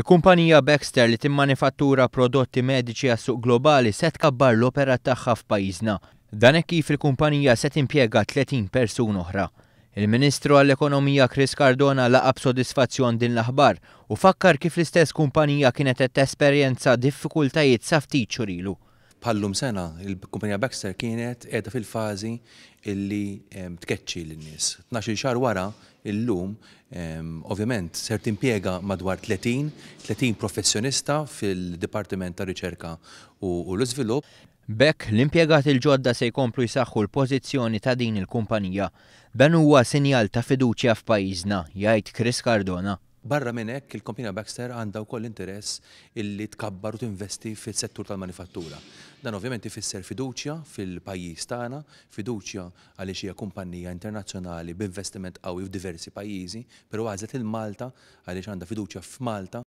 Il-kumpanija Baxter li timmanifattura prodotti mediċi għas-suq globali se tkabbar l-operat tagħha f'pajjiżna. Dan hekk kif il-kumpanija se timpjega 30 persuna oħra. Il-Ministru għall-Ekonomija Chris Cardona laqa' b'sodisfazzjon din l-aħbar u fakkar kif l-istess kumpanija kienet qed tesperjenza diffikultajiet sa ftit xhur ilu. Bħal-lum sena, il-kumpanija Baxter kienet qiegħda fil-fażi illi tkeċċi lin-nies. 12-il xahar wara, illum, ovvjament ser timpjega madwar 30, 30 professjonista fil-Dipartiment ta' Riċerka u l-Iżvilupp. B'hekk, l-impjegati l-ġodda se jkomplu jsaħħu l-pożizzjoni ta' din il-kumpanija. Dan huwa sinjal ta' fiduċja f'pajjiżna, jgħid Chris Cardona. Barra minn hekk, il-kumpanija Baxter għandha wkoll interess illi tkabbar u tinvesti fis-settur tal-manifattura. Dan ovvjament ifisser fiduċja fil-pajjiż tagħna, fiduċja għaliex hija kumpanija internazzjonali b'investiment qawwi f'diversi pajjiżi, però għażlet lil Malta għaliex għandha fiduċja f'Malta.